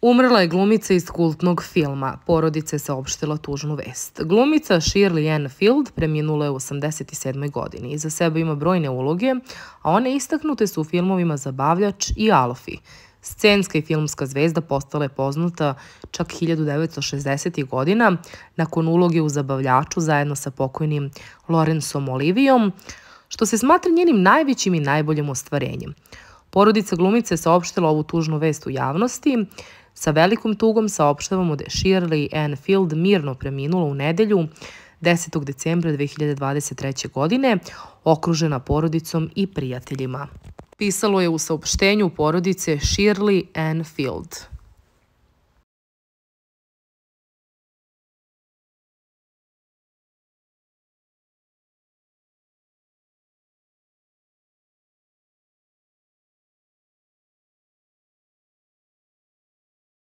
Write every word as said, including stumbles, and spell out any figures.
Umrla je glumica iz kultnog filma. Porodica je saopštila tužnu vest. Glumica Shirley Ann Field preminula je u osamdeset sedmoj godini. Iza sebe ima brojne uloge, a one istaknute su u filmovima Zabavljač i Alfie. Scenska i filmska zvezda postala je poznata čak hiljadu devetsto šezdesetih godina nakon uloge u Zabavljaču zajedno sa pokojnim Laurenceom Olivijom, što se smatra njenim najvećim i najboljim ostvarenjem. Porodica glumice je saopštila ovu tužnu vest u javnosti. Sa velikom tugom saopštavamo da je Shirley Ann Field mirno preminula u nedelju desetog decembra dve hiljade dvadeset treće. godine, okružena porodicom i prijateljima. Pisalo je u saopštenju porodice Shirley Ann Field.